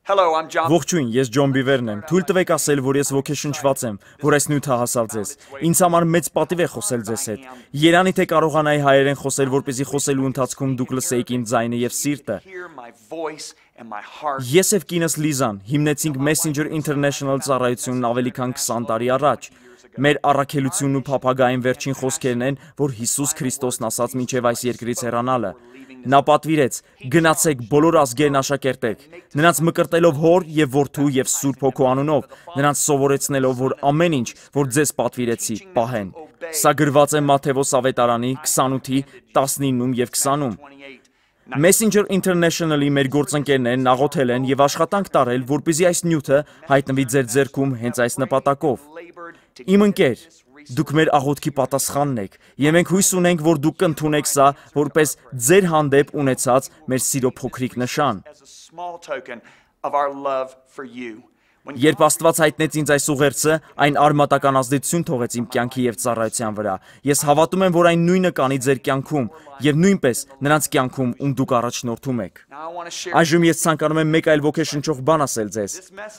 Ողջույն, ես Ջոն Բիվերն եմ։ Թույլ տվեք ասել, որ ես ոգեշնչված եմ, որ այս նյութը հասավ ձեզ։ Ինձ համար մեծ պատիվ է խոսել ձեզ հետ։ Երանի թե կարողանայի հայերեն խոսել, որպեսզի խոսելու ընթացքում դուք լսեիք իմ ձայնը եւ սիրտը։ Ես եւ կինս Լիզան հիմնեցինք Messenger International ծառայությունն ավելի քան 20 տարի առաջ։ Մեր առաքելությունն ու փափագային վերջին խոսքերն են, որ Հիսուս Քրիստոսն ասաց մինչև այս երկրից հեռանալը։ Նա պատվիրեց. գնացեք բոլոր ազգերն աշակերտեք, նրանց մկրտելով Հոր եւ Որդու եւ Սուրբ Հոգու անունով, նրանց սովորեցնելով, որ ամեն ինչ, որ ձեզ պատվիրեցի, պահեն։ Սա գրված է Մատթեոս ավետարանի 28-ի 19-ում եւ 20-ում։ Messenger International-ի մեր գործընկերներն աղոթել են եւ աշխատանք տարել, որպեսզի այս նյութը հայտնվի ձեր ձեռքում հենց այս նպատակով։ Իմ ընկեր, դուք մեր աղոթքի պատասխանն եք, եւ մենք հույս ունենք, որ դուք կընդունեք սա որպես ձեր հանդեպ ունեցած մեր սիրո փոքրիկ նշան։ Երբ Աստված հայտնեց ինձ այս ուղերձը, այն արմատական ազդեցություն թողեց իմ կյանքի եւ ծառայության վրա։ Ես հավատում եմ, որ այն նույնը կանի ձեր կյանքում եւ նույնպես նրանց կյանքում, ում դուք առաջնորդում եք։ Այժմ ես ցանկանում եմ մեկ այլ ոգեշնչող բան ասել ձեզ։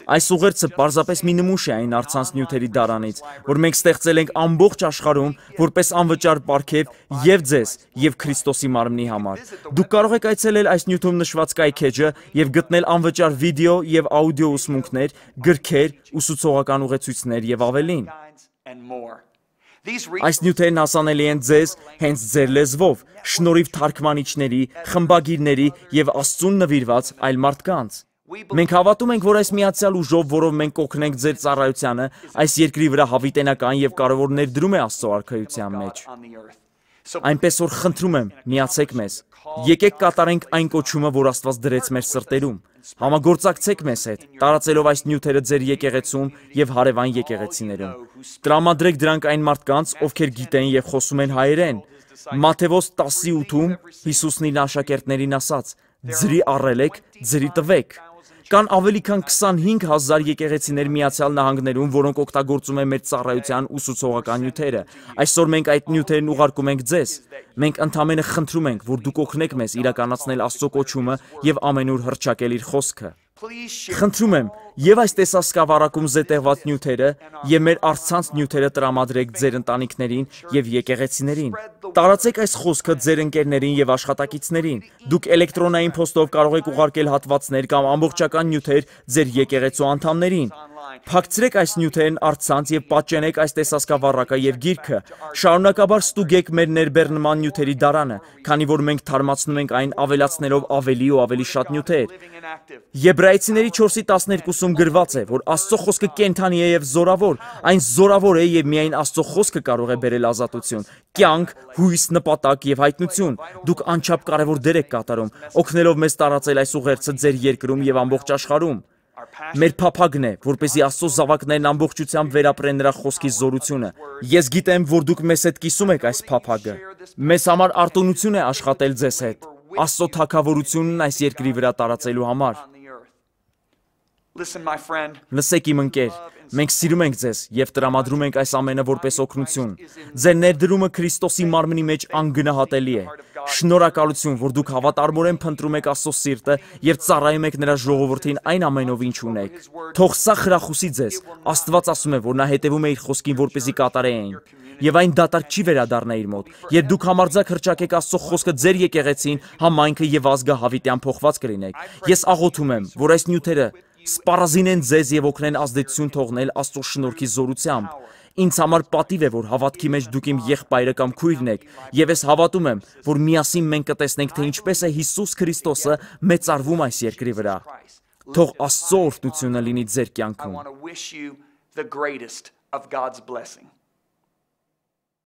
Այս ուղերձը պարզապես մի նմուշ է այն առցանց նյութերի դարանից, որ մենք ստեղծել ենք ամբողջ աշխարհում որպես անվճար պարգև եւ ձեզ եւ Քրիստոսի մարմնի համար։ Դուք կարող եք այցելել այս նյութում նշված կայքեջը եւ գտնել անվճար վիդեո եւ աուդիո ուսմունքներ, գրքեր, ուսուցողական ուղեցույցներ եւ ավելին։ Այս նյութերն հասանելի են ձեզ հենց ձեր լեզվով, շնորհիվ թարգմանիչների, խմբագիրների եւ Աստծուն նվիրված այլ մարդկանց։ Մենք հավատում ենք, որ այս միացյալ ուժով, որով մենք կօգնենք ձեր ծառայությանը, այս երկրի վրա հավիտենական եւ կարեւոր ներդրում է Աստծո արքայության մեջ։ Այնպես որ խնդրում եմ, միացեք մեզ։ Եկեք կատարենք այն կոչումը, որ Աստված դրեց մեր սրտերում։ Համագործակցեք մեզ հետ, տարածելով այս նյութերը ձեր եկեղեցում եւ հարևան եկեղեցիներում։ Տրամադրեք դրանք այն մարդկանց, ովքեր գիտեն եւ խոսում են հայերեն։ Մատթեոս 10:8-ում Հիսուսն իր աշակերտներին ասաց. «Ձրի առել եք, ձրի տվեք»։ Կան ավելի քան 25,000 եկեղեցիներ Միացյալ Նահանգներում, որոնք օգտագործում են մեր ծառայության ուսուցողական նյութերը։ Այսօր մենք այդ նյութերն ուղարկում ենք ձեզ։ Մենք ընդամենը խնդրում ենք, որ դուք օգնեք մեզ իրականացնել Աստծո կոչումը եւ ամենուր հռչակել իր խոսքը։ Խնդրում եմ, եւ այս տեսահսկավառակում զետեղված նյութերը եւ մեր առցանց նյութերը տրամադրեք ձեր ընտանիքներին եւ եկեղեցիներին։ Տարածեք այս խոսքը ձեր ընկերներին եւ աշխատակիցներին։ Դուք էլեկտրոնային փոստով կարող եք ուղարկել հատվածներ կամ ամբողջական նյութեր ձեր եկեղեցու անդամներին։ Փակցրեք այս նյութերն առցանց եւ պատճենեք այս տեսահսկավառակը եւ գիրքը։ Շարունակաբար ստուգեք մեր ներբեռնման նյութերի դարանը, քանի որ մենք թարմացնում ենք այն ավելացնելով ավելի ու ավելի շատ նյութեր։ Եբրայեցիների 4:12-ում գրված է, որ Աստծո խոսքը կենդանի է եւ զորավոր, այն զորավոր է եւ միայն Աստծո խոսքը կարող է բերել ազատություն, կյանք, հույս, նպատակ եւ հայտնություն։ Դուք անչափ կարեւոր դեր եք կատարում, օգնելով մեզ տարածել այս ուղերձը ձեր երկրում եւ ամբողջ աշխարհում։ Մեր փափագն է, որպեսզի Աստծո զավակներն ամբողջությամբ վերապրեն նրա խոսքի զորությունը։ Ես գիտեմ, որ դուք մեզ հետ կիսում եք այս փափագը։ Մեզ համար արտոնություն է աշխատել ձեզ հետ, Աստծո թագավորությունն այս երկրի վրա տարածելու համար։ Լսեք իմ ընկեր, մենք սիրում ենք ձեզ եւ տրամադրում ենք այս ամենը որպես օգնություն։ Ձեր ներդրումը Քրիստոսի մարմնի մեջ անգնահատելի է։ Շնորհակալություն, որ դուք հավատարմորեն փնտրում եք Աստծո սիրտը եւ ծառայում եք նրա ժողովրդին այն ամենով, ինչ ունեք։ Թող սա խրախուսի ձեզ։ Աստված ասում է, որ նա հետևում է իր խոսքին, որպեսզի կատարի այն։ Եվ այն դատարկ չի վերադառնա իր մոտ։ Երբ դուք համարձակ հռչակեք Աստծո խոսքը ձեր եկեղեցին, համայնքը եւ ազգը հավիտյան փոխված կլինեք։ Ես աղոթում եմ, որ այս նյութերը սպառազինեն ձեզ եւ օգնեն ազդեցություն թողնել Աստծո շնորհքի զորությամբ։ Ինձ համար պատիվ է, որ հավատքի մեջ դուք իմ եղբայրը կամ քույրն եք, եւ ես հավատում եմ, որ միասին մենք կտեսնենք, թե ինչպես է Հիսուս Քրիստոսը մեծարվում այս երկրի վրա։ Թող Աստծո օրհնությունը լինի ձեր կյանքում։